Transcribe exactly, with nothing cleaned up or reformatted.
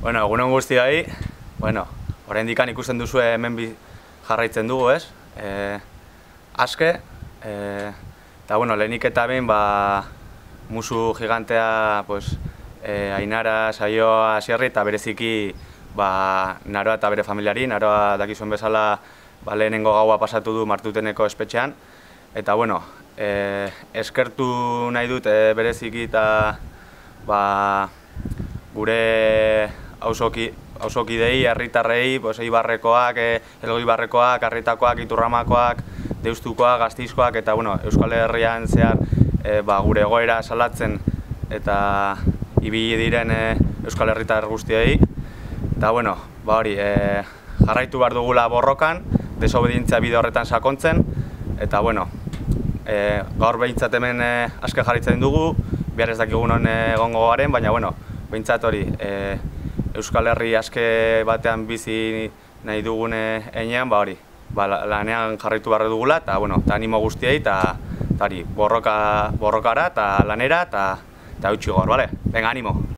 Bueno, egunon guztioi, bueno, oraindik ikusten duzu hemen bi jarraitzen dugu, ez? E, aske, e, eta bueno, lehenik eta behin, ba, musu gigantea, pues, e, Ainara, Saioa, Asierri, eta bereziki, ba, Naroa eta bere familiari, Naroa dakizuen bezala, ba, lehenengo gaua pasatu du Martuteneko espetxean, eta bueno, e, eskertu nahi dut e, bereziki eta, ba, gure auzokidei, herritarrei, pues, Eibarrekoak, Elgoibarrekoak, Arritakoak, Iturramakoak, Deustukoak, Gasteizkoak, eta bueno, Euskal Herrian zehar e, ba, gure egoera salatzen eta ibili diren e, Euskal Herritar guztiei. Eta bueno, ba hori, e, jarraitu behar dugula borrokan, desobedientzia bide horretan sakontzen, eta bueno, e, gaur behintzat hemen e, aske jarraitzen dugu, bihar ez dakigun non egongo garen, baina bueno, behintzat hori, e, Euskal Herri aske batean bizi nahi dugun heinean, ba hori, ba, lanean jarraitu behar dugula, eta bueno, eta animo guztiei, eta hori, borroka, borrokara, eta lanera, eta, eta eutsi gor, bale? Venga, animo!